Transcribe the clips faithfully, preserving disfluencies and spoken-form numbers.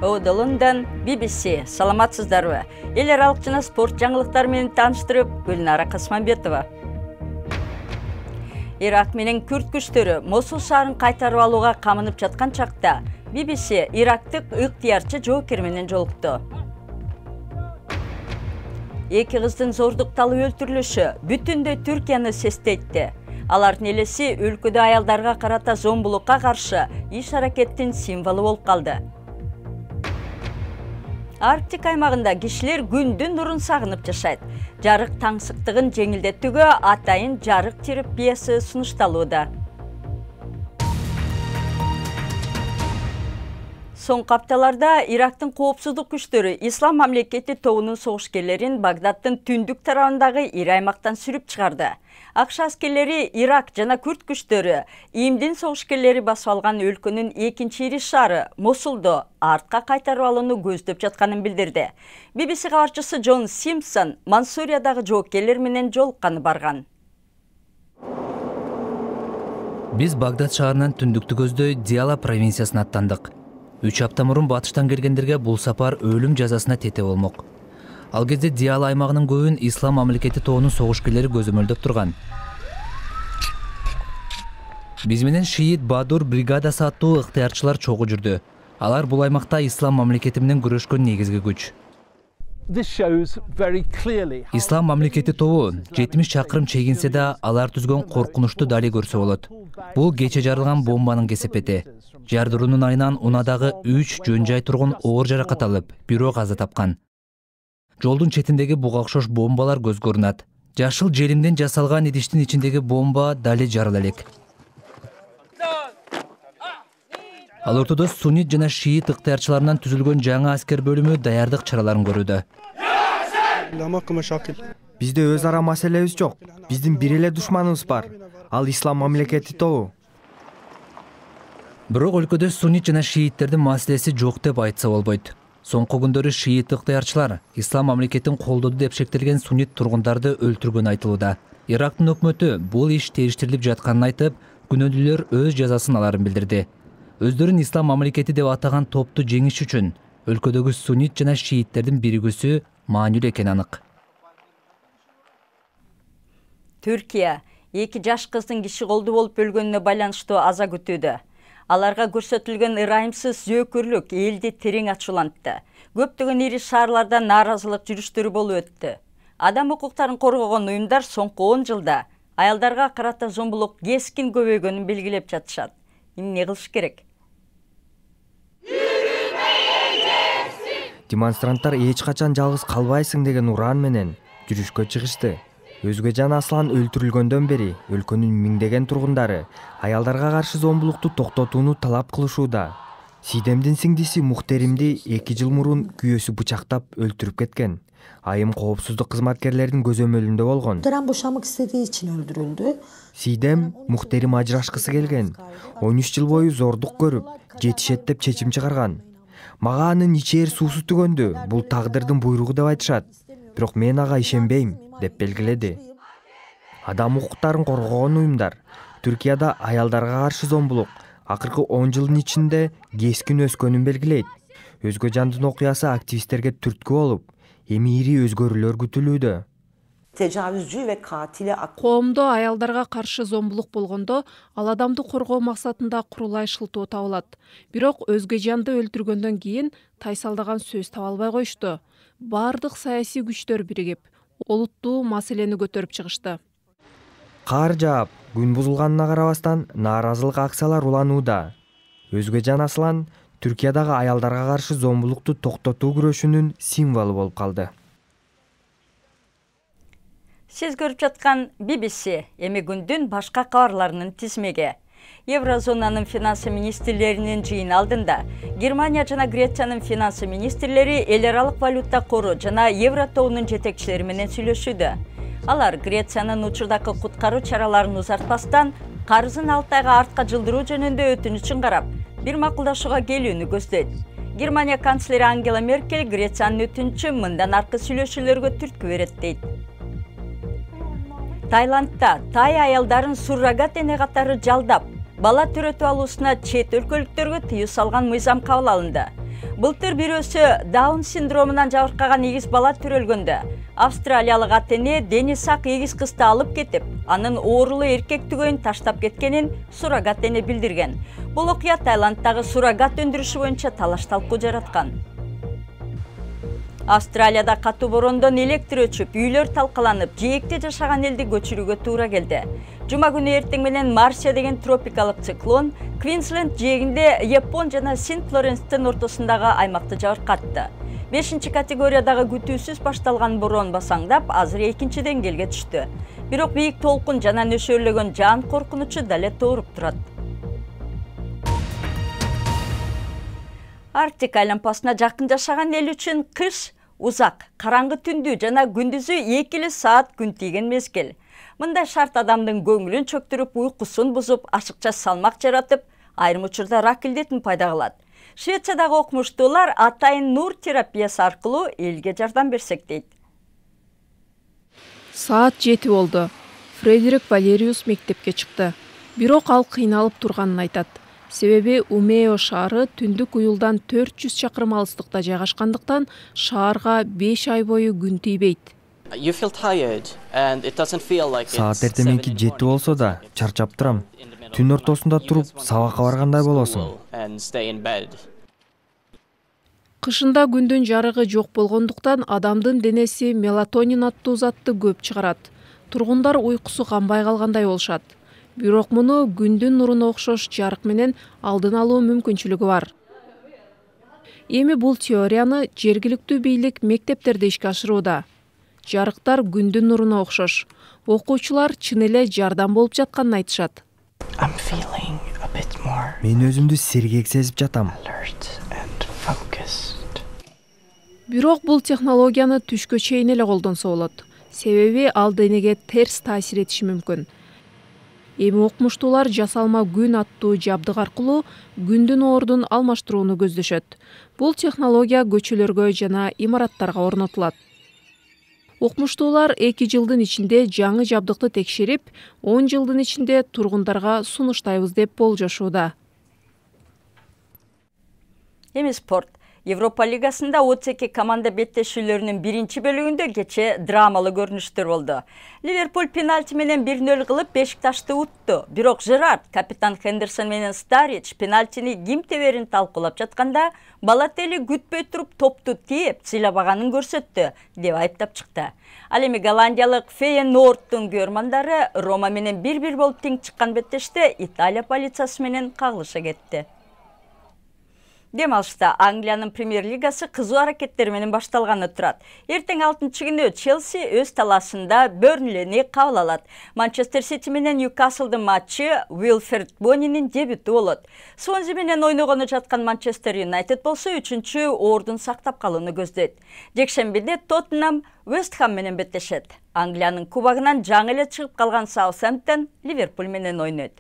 Ода Лондон, би би си. Саламатсыздарбы? Эл аралык жана спорт жаңылыктары менен тааныштырып, Гүлнара Касманбетова. Ирак менен Күрд күчтөрү Мосул шаарын кайтарып алууга камынып жаткан чакта би би си ирактык ыктыярчы жоокер менен жолукту. Эки кыздын зордукталып өлтүрүлүшү бүтүндөй Түркияны сестейтти. Алардын элеси өлкөдө аялдарга карата зомбулукка каршы иш-аракеттин символу болуп калды. Арктика аймагында кишилер күндүн нурун сагынып жашайт. Жарык таңсыктыгын жеңилдетүүгө атайын жарык терапиясы сунушталууда. Соңку апталарда Ирактын коопсуздук күчтөрү Ислам мамлекети тобунун согушкерлерин Багдаддын түндүк тарабындагы ири аймактан сүрүп чыгарды. АКШ аскерлери Ирак жана Күрд күчтөрү ИИМдин согушкерлери басып алган өлкөнүн экинчи ири шаары Мосулду артка кайтарып алууну көздөп жатканын билдирди. би би си кабарчысы Джон Симпсон Мансуриядагы жоокерлер менен жолукканы барган. Биз Багдад шаарынан түндүктү көздөй Диала провинциясына аттандык. Үч апта мурун батыштан келгендерге бул сапар өлүм жазасына тете болмок. Ал кезде Диала аймагынын көбүн Ислам мамлекети тобунун согушкерлери көзөмөлдөп турган. Биз менен Шиит Бадур бригадасы аттуу ыктыярчылар чогуу жүрдү. Алар бул аймакта Ислам мамлекети менен күрөшкөн негизги күч. Ислам мамлекети тобу жетимиш чакырым чегинсе да алар түзгөн коркунучту дали көрсө болот. Бул кече жарылган бомбанын кесепети. Жардыруунун айынан унадагы үч жөн жай тургун оор жаракат алып, бирөө каза тапкан. Жолдун четиндеги буга окшош бомбалар көз көрүнөт. Жашыл желимден жасалган идиштин ичиндеги бомба дали жарыла элек. Ал ортодо суннит жана шиит ыктыярчыларынан түзүлгөн жаңы аскер бөлүмү даярдык чараларын көрүүдө. Бизде өз ара маселебиз жок. Биздин бир эле душманыбыз бар. Ал Ислам мамлекети тобу. Бирок өлкөдө суннит жана шииттердин маселеси жок деп айтса болбойт. Соңку күндөрү шиит ыктыярчылар Ислам мамлекетин колдоду деп шектелген суннит тургундарды өлтүргөн айтылууда. Ирактын өкмөтү бул иш териштирилип жатканын айтып, күнөөдүүлөр өз жазасын аларын билдирди. Өздөрүн Ислам мамлекети деп атаган топту жеңиш үчүн өлкөдөгү суннит жана шииттердин биригүүсү маанилүү экени анык. Түркия эки жаш кыздын киши колду болуп өлгөнүнө байланыштуу аза күтүүдө. Аларга көрсөтүлгөн ырайымсыз зөөкүрлүк элди терең ачуулантты. Көптөгөн ири шаарларда нааразылык жүрүштөрү болуп өттү. Адам укуктарын коргогон уюмдар соңку он жылда аялдарга карата зомбулук кескин көбөйгөнүн белгилеп жатышат. Эмне кылыш керек? Демонстранттар эч качан жалгыз калбайсың деген уран менен жүрүшкө чыгышты. Өзгөжан Аслан өлтүрүлгөндөн бери өлкөнүн миңдеген тургундары аялдарга каршы зомбулукту токтотууну талап кылышууда. Сидемдин сиңдиси Мухтеримди эки жыл мурун күйөөсү бычактап өлтүрүп кеткен. Айым коопсуздук кызматкерлеринин көзөмөлүндө болгон. Дыран бошамык истедии үчүн өлтүрүлдү. Сидем Мухтерим ажырашкысы келген. он үч жыл бою зордук көрүп, жетишет деп чечим чыгарган. Мага анын ичээр суусу түгөндү. Бул тагдырдын буйругу деп айтышат. Бирок мен ага ишенбейм деп белгиледи. Адам укуктарын коргогон уюмдар Түркияда аялдарга каршы зомбулук акыркы он жылдын ичинде кескин өскөнүн белгилейт. Өзгөжандын окуясы активисттерге түрткү болуп, эми ири өзгөрүүлөр күтүлүүдө. Коомдо аялдарга каршы зомбулук болгондо ал адамды коргоо максатында курулай шылтоо табылат. Бирок өзгө жанды өлтүргөндөн кийин тайсалдаган сөз таба албай коюшту. Бардык саясий күчтөр биригип, олуттуу маселени көтөрүп чыгышты. Кар жаап, күн бузулганына карабастан нааразылык акциялар уланууда. Өзгөжан Аслан Түркиядагы аялдарга каршы зомбулукту токтотуу күрөшүнүн символу болуп калды. Сиз көрүп жаткан би би си эми күндүн башка кабарларынын тизмеги. Еврозонанын финансы министрлеринин жыйыны алдында Германия жана Грециянын финансы министрлери эл аралык валюта кору жана евро тобунун жетекчилери менен сүйлөшүүдө. Алар Грециянын учурдагы куткаруу чараларын узартпастан карызын алты айга артка жылдыруу жөнүндө өтүнүчүн карап, бир макулдашууга келүүнү көздөйт. Германия канцлери Ангела Меркель Грециянын өтүнүчү мындан аркы сүйлөшүүлөргө түрткү берет дейт. Таиландда тай аялдарын суррогат эне катары жалдап, бала төрөтүп алуусуна чет өлкөлүктөргө тыюу салган мыйзам кабыл алынды. Былтыр бирөөсү Даун синдромунан жабыркаган эгиз бала төрөлгөндө австралиялык ата-эне дени сак эгиз кызды алып кетип, анын оорулуу эркек түгөйүн таштап кеткенин суррогат эне билдирген. Бул окуя Таиланддагы суррогат өндүрүшү боюнча талаш-талкуу жараткан. Австралияда катуу бороондон электр өчүп, үйлөр талкаланып, жээкте жашаган элди көчүрүүгө туура келди. Жума күнү эртең менен Марсия деген тропикалык циклон Квинсленд жээгинде Япон жана Сент-Лоренстин ортосундагы аймакты жабыркатты. бешинчи категориядагы күтүүсүз башталган бороон басаңдап, азыр экинчи деңгээлге түштү. Бирок бийик толкун жана нөшөрлөгөн жан коркунучу дале тооруп турат. Арктика айланпасына жакын жашаган эл үчүн кыш узак, караңгы түндүү жана күндүзү эки эле саат күн тийген мезгил. Мындай шарт адамдын көңүлүн чөктүрүп, уйкусун бузуп, ашыкча салмак жаратып, айрым учурда рак илдетин пайда кылат. Швециядагы окумуштуулар атайын нур терапиясы аркылуу элге жардам берсек дейт. Саат жети болду. Фредерик Валериус мектепке чыкты. Бирок ал кыйналып турганын айтат. Себеби Умео шаары түндүк уюлдан төрт жүз чакырым алыстыкта жайгашкандыктан шаарга беш ай бою күн тийбейт. Саат эртеменки жети болсо да чарчап турам. Түн ортосунда туруп сабакка баргандай болосуң. Кышында күндүн жарыгы жок болгондуктан адамдын денеси мелатонин аттуу затты көп чыгарат. Тургундар уйкусу канбай калгандай болушат. Бирок муну күндүн нуруна окшош жарык менен алдын алуу мүмкүнчүлүгү бар. Эми бул теорияны жергиликтүү бийлик мектептерде ишке ашырууда. Жарыктар күндүн нуруна окшош. Окуучулар чын эле жардам болуп жатканын айтышат. Мен өзүмдү сергек сезип жатам. Бирок бул технологияны түшкө чейин эле колдонсо болот. Себеби ал денеге терс таасир этиши мүмкүн. Эми окумуштуулар жасалма күн аттуу жабдык аркылуу күндүн ордун алмаштырууну көздөшөт. Бул технология көчөлөргө жана имараттарга орнотулат. Окумуштуулар эки жылдын ичинде жаңы жабдыкты текшерип, он жылдын ичинде тургундарга сунуштайбыз деп болжошууда. Эми спорт. Европа лигасында отуз эки команда беттешүүлөрүнүн биринчи бөлүгүндө кече драмалуу көрүнүштөр болду. Ливерпуль пенальти менен бир нөл кылып Бешикташты утту. Бирок Жерард, капитан Хендерсон менен Старич пенальтини ким теберин талкуулап жатканда, Балотелли күтпөй туруп топту тээп, сыйлабаганын көрсөттү деп айыптап чыкты. Ал эми голландиялык Фейенордтун көрмандары Рома менен бир бир болуп тең чыккан беттеште Италия полициясы менен кагылыша кетти. Дем алышта Англиянын премьер лигасы кызуу аракеттер менен башталганы турат. Эртең алтынчы күнү Челси өз талаасында Бернлини кабыл алат. Манчестер Сити менен Ньюкаслдын матчы Уилфред Бонинин дебюту болот. Свонзи менен ойногону жаткан Манчестер Юнайтед болсо үчүнчү ордун сактап калууну көздөйт. Жекшембиде Тоттенхам Вест Хэм менен беттешет. Англиянын кубогунан жаңы эле чыгып калган Саутгемптон Ливерпуль менен ойнойт.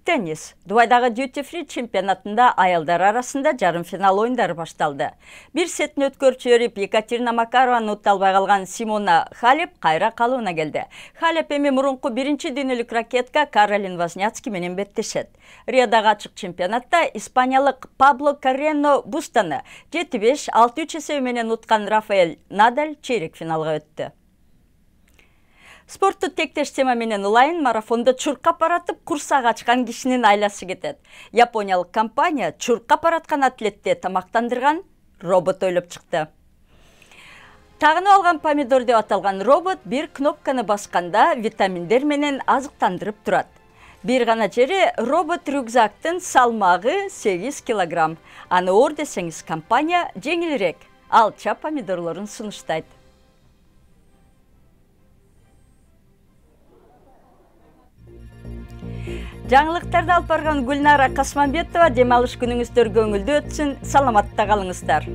Теннис. Дубайдагы Duty Free чемпионатында аялдар арасында жарым финал оюндары башталды. Бир сетин өткөрүп жиберип, Екатерина Макарованы ута албай калган Симона Халеп кайра калыбына келди. Халеп эми мурунку биринчи дүйнөлүк ракетка Каролин Возняцки менен беттешет. Риодагы ачык чемпионатта испаниялык Пабло Каррено Бустаны жети беш алты үч эсеби менен уткан Рафаэль Надаль чейрек финалга өттү. Спортту тектеш тема менен улайын, марафондо чуркап баратып курсак ачкан кишинин айласы кетет. Япониялык компания чуркап бараткан атлетти тамактандырган робот ойлоп чыкты. Тагынып алган помидор деп аталган робот бир кнопканы басканда витаминдер менен азыктандырып турат. Бир гана жери робот рюкзактын салмагы сегиз килограмм. Аны оор десеңиз, компания жеңилирээк алча помидорлорун сунуштайт. Жаңылыктарды алып барган Гүлнара Касманбетова, дем алыш күнүңүздөр көңүлдүү өтсүн, саламатта калыңыздар.